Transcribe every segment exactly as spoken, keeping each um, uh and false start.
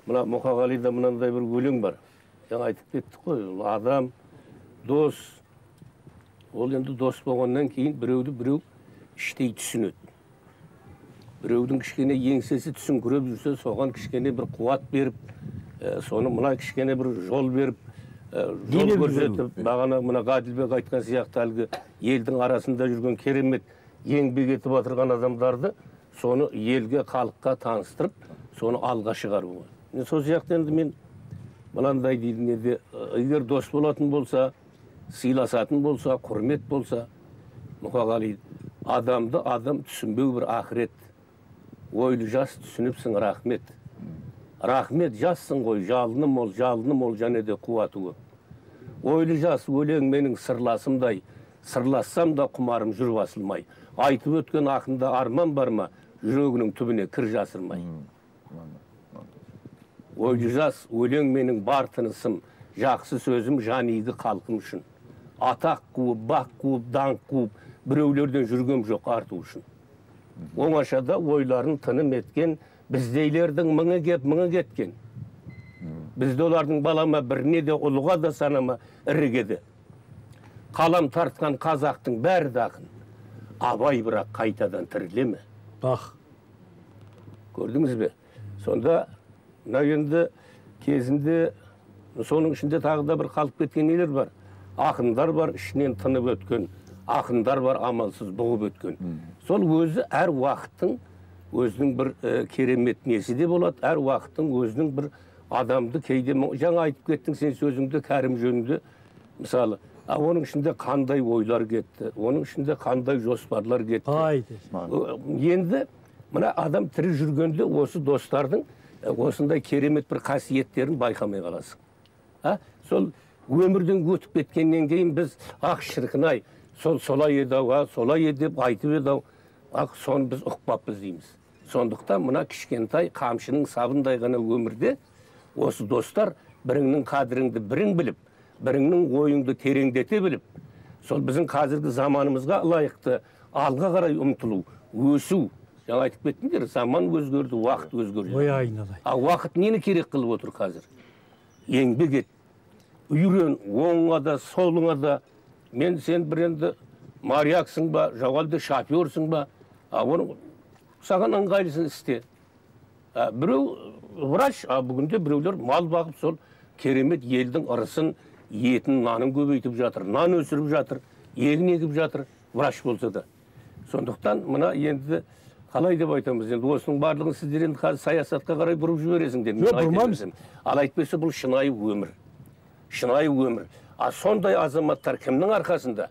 мына Мукагалида мынандай bir өлең бар. Жаңа айтып кеттик қой, адам, дос. Ол енді дос болғаннан кейін біреуді біреу іштей түсінеді. Біреудің кішкене еңсесі түсіңкіреп жүрсе, соған кішкене бір қуат беріп, соны мына кішкене бір жол беріп, жол көрсетіп, бағана мына Ғаділбек айтқан сияқты әлгі елдің арасында жүрген керемет еңбек етіп отырған адамдарды соны елге, халыққа таныстырып, соны алға шығаруға. Сол сияқты енді мен мынандай деймін, енді егер дос болатын болса, сыйласатын болса, құрмет болса, Мұқағали адамды адам түсінбеу бір ақырет. Ойлы жас түсініпсің, рахмет. Рахмет жассың ғой, жалыны мол, жалыны мол және де қуаты көп. Ойлы жас өлең менің сырласымдай, сырлассам да құмарым жүр басылмай. Айтып өткен ақында арман бар ма, жүрегінің түбіне кір жасырмай. Ойлы жас өлең менің бар тынысым, жақсы сөзім жан игі халқым үшін. Атақ қуып, бақ қуып, даңқ қуып, біреулерден жүргем жоқ арту үшін. Оңашада ойларын тыным еткен, біздейлердің мыңы кеп, мыңы кеткен. Бізде олардың балама біріне де ұлыға да санама ірігеді. Қалам тартқан қазақтың бәрі дақын. Абай бірақ қайтадан тірілеме. Бақ. Көрдіңіз бе? Сонда, енді кезінде, соның ішінде тағы да бір қалып кеткен нелер бар. Ақындар бар, ішінен тынып өткен. Ақындар бар, амалсыз бұғып өткен. Сол өзі әр уақыттың өзінің бір керемет несі де болады, әр уақыттың өзінің бір адамды кейде, жаңа айтып кеттің сен сөзіңді кәрім жөнінде, мысалы, оның ішінде қандай ойлар кетті, оның ішінде қандай жоспарлар кетті. Енді мына адам тірі жүргенде осы достардың осындай керемет бір қасиеттерін байқамай қаласың. Сол өмірден өтіп кеткеннен кейін біз ақ шіркін-ай, сол солай еді-ау, солай еді деп айтып еді-ау, ақ соны біз ұқпаппыз дейміз. Сондықтан мына кішкентай қамшының сабындай ғана өмірде осы достар біріңнің қадіріңді бірің біліп, біріңнің ойыңды тереңдете біліп, сол біздің қазіргі заманымызға лайықты алға қарай ұмтылу, өсу. Жаңа айтып кеттіңдер, заман өзгерді, уақыт өзгерді. Ой айналай. А уақыт нені керек қылып отыр қазір? Еңбек ет, үйрен, оңыңа да, солыңа да. Мен сен бір енді марияксың ба, жоғалды шоферсың ба, оны саған ыңғайлысын істе. Біреу врач, бүгінде біреулер мал бағып сол керемет елдің ырысын, етін, нанын көбейтіп жатыр, нан өсіріп жатыр, егін егіп жатыр, врач болса да. Сондықтан мына енді қалай деп айтамыз, енді осының барлығын сіздер енді қазір саясатқа қарай бұрып жібересіңдер. Жоқ, бұрмамыз. Ал айтпесе бұл шынайы өмір. Шынайы өмір. А сондай азаматтар кімнің арқасында?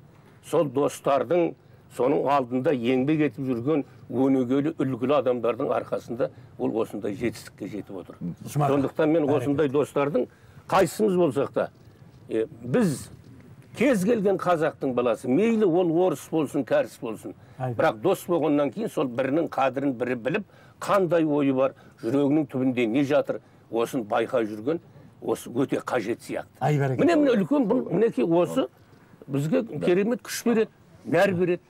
Сол достардың, соның алдында еңбек етіп жүрген өнегелі, үлгілі адамдардың арқасында ол осындай жетістікке жетіп отыр. Сондықтан мен осындай достардың қайсымыз болсақ та, біз кез келген қазақтың баласы, мейлі ол орыс болсын, кәріс болсын, бірақ дос болғаннан кейін сол бірінің қадірін бірі біліп, қандай ойы бар, жүрегінің түбінде не жатыр, осын байқай жүрген, осы өте қажет сияқты. Міне міне үлкен бұл мінекей осы бізге керемет күш береді, нәр береді.